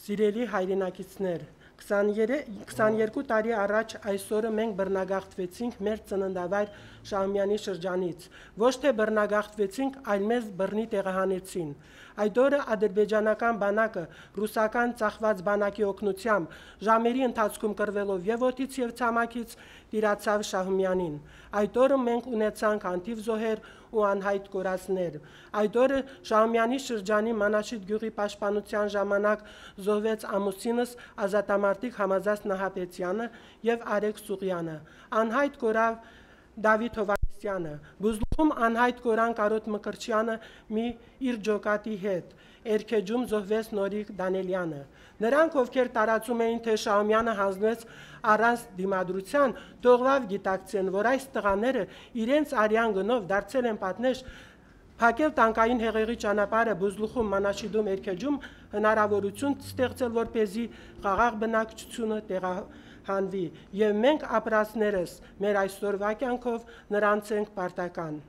Սիրելի հայրենակիցներ, 22 տարի առաջ այսօրը մենք բռնագաղթվեցինք մեր ծննդավայր Շահումյանի շրջանից, ոչ թե բռնագաղթվեցինք, այլ մեզ բռնի տեղահանեցին։ Այդ օրը ադրբեջանական բանակը ռուսական ծախված բանակի օգնությամբ ժամերի ընթացքում կռվելով եւ օդից եւ ցամաքից տիրացավ Շահումյանին։ Այդ օրը մենք ունեցանք անթիվ զոհեր ու անհայտ կորածներ։ Այդ օրը Շահումյանի շրջանի Մանաշիտ գյուղի պաշտպանության ժամանակ զոհվեց ամուսինս ազատամարտիկ Համազած Նահապետյանը եւ Արեգ Սուղյանը, անհայտ կորավ Դավիթ Հովհաննիսյանը, Բուզլուխում անհայտ կորան Կարոտ Մկրտչյանը իր ջոկատի հետ, Էրքեջում զոհվեց Նորիկ Դանելյանը։ Նրանք, ովքեր տարածում էին, թե Շահումյանը հանձնվեց առանց դիմադրության, թողավ գիտակցեն, որ այս տղաները իրենց արյան գնով դարձել են պատնեշ փակել տանկային հեղեղի ճանապարհը Բուզլուխում, Մանաշիդում, Էրքեջում հնարավորություն ստեղծել, որպեսզի խաղաղ բնակչությունը տեղահանվի, եւ մենք ապրածներս մեր այսօրվա կյանքով նրանց ենք պարտական։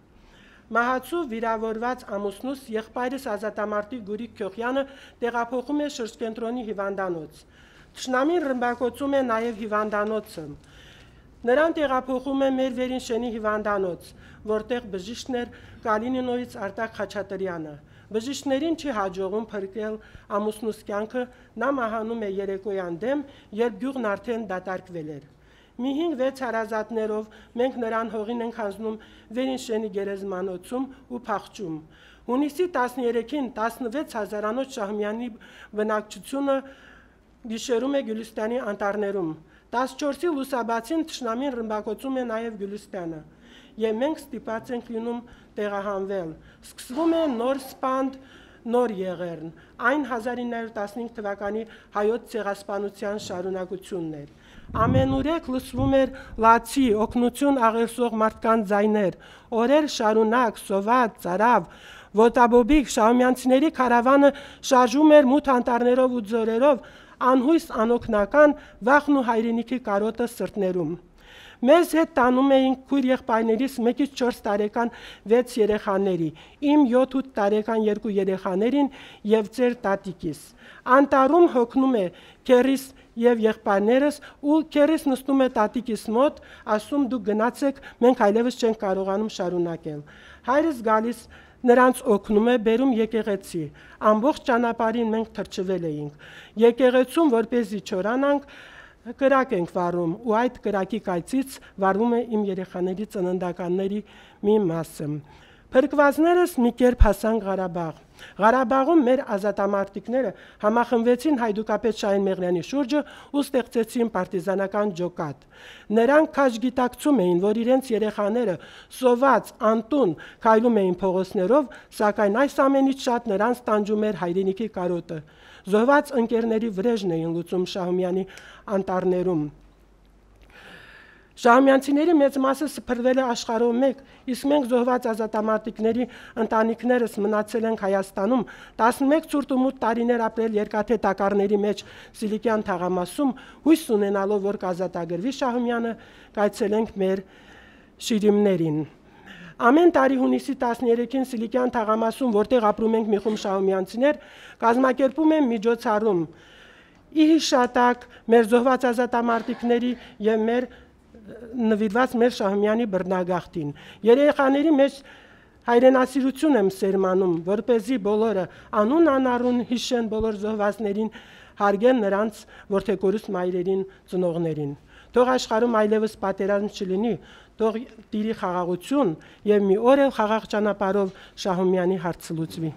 Մահացու վիրավորված ամուսնուս եղբայրս ազատամարտիկ Գուրիկ Քյոխյանը տեղափոխում է շրջկենտրոնի հիվանդանոց։ Թշնամին ռմբակոծում է նաև հիվանդանոցը։ Նրան տեղափոխում է մեր Վերինշենի հիվանդանոց, որտեղ բժիշկն էր Կալինինոյից Արտակ Խաչատրյանը։ Բժիշկներին չի հաջողում փրկել ամուսնուս կյանքը, նա մահանում է երեկոյան դեմ, երբ գյուղն արդեն դատարկվել էր։ Մի 5-6 հարազատներով մենք նրան հողին ենք հանձնում Վերինշենի գերեզմանոցում ու փախչում։ Հունիսի 13-ին 16,000-անոց Շահումյանի բնակչությունը գիշերում է Գյուլիստանի անտառներում։ 14-ի լուսաբացին թշնամին ռմբակոծում է նաև Գյուլիստանը, եւ մենք ստիպված ենք լինում տեղահանվել։ Սկսվում է նոր սպանդ, նոր եղերն, այն 1915 թվականի հայոց ցեղասպանության շարունակությունն էր։ Ամենուրեք լսվում էր լացի, օգնություն աղերսող մարդկանց ձայներ, օրեր շարունակ, սոված, ծարավ, ոտաբոբիկ Շահումյանցիների քարավանը շարժում էր մութ անտառներով ու ձորերով, անհույս անօգնական վախն ու հայրենիքի կարոտը սրտներում։ Մեզ հետ տանում էին քույր եղբայրներիս 1-ից 4 տարեկան 6 երեխաների, իմ 7-8 տարեկան 2 երեխաներին եւ ծեր տատիկիս։ Անտառում հոգնում է քերիս եւ եղբայրներս ու քերիս նստում է տատիկիս մոտ, ասում դուք գնացեք, մենք այլևս չենք կարողանում շարունակել։ Հայրս գալիս նրանց օգնում է, բերում եկեղեցի։ Ամբողջ ճանապարհին մենք թրջվել էինք։ Եկեղեցում, որպեսզի չորանանք, կրակ ենք վառում ու այդ կրակի կայծից վառվում է իմ երեխաների ծննդականների մի մասը։ Փրկվածներս մի կերպ հասան Ղարաբաղ։ Ղարաբաղում մեր ազատամարտիկները համախմբվեցին հայդուկապետ Շահեն Մեղրյանի շուրջը ու ստեղծեցին պարտիզանական ջոկատ։ Նրանք քաջ գիտակցում էին, որ իրենց երեխաները սոված, անտուն քայլում էին փողոցներով, սակայն այս ամենից շատ նրանց տանջում էր հայրենիքի կարոտը։ Զոհված ընկերների վրեժն էին լուծում Շահումյանի անտառներում։ Շահումյանցիների մեծ մասը սփռվել է աշխարհով մեկ, իսկ մենք զոհված ազատամարտիկների ընտանիքներս մնացել ենք Հայաստանում, 11 ցուրտ ու մութ տարիներ ապրել երկաթե տակառների մեջ Սիլիկյան թաղամասում, հույս ունենալով, որ կազատագրվի Շահումյանը, կայցելենք մեր շիրիմներին։ Ամեն տարի հունիսի 13-ին Սիլիկյան թաղամասում, որտեղ ապրում ենք մի խումբ շահումյանցիներ, կազմակերպում են միջոցառում ի հիշատակ մեր զոհված ազատամարտիկների եւ նվիրված մեր Շահումյանի բռնագաղթին։ Երեխաների մեջ հայրենասիրություն եմ սերմանում, որպեսզի բոլորը անուն անառուն հիշեն բոլոր զոհվածներին, հարգեն նրանց որդեգորուս մայրերին, ծնողներին։ Թող աշխարհում այլևս պատերազմ չլինի, թող տիրի խաղաղություն եւ մի օր էլ խաղաղ ճանապարհով Շահումյանի հարցը լուծվի։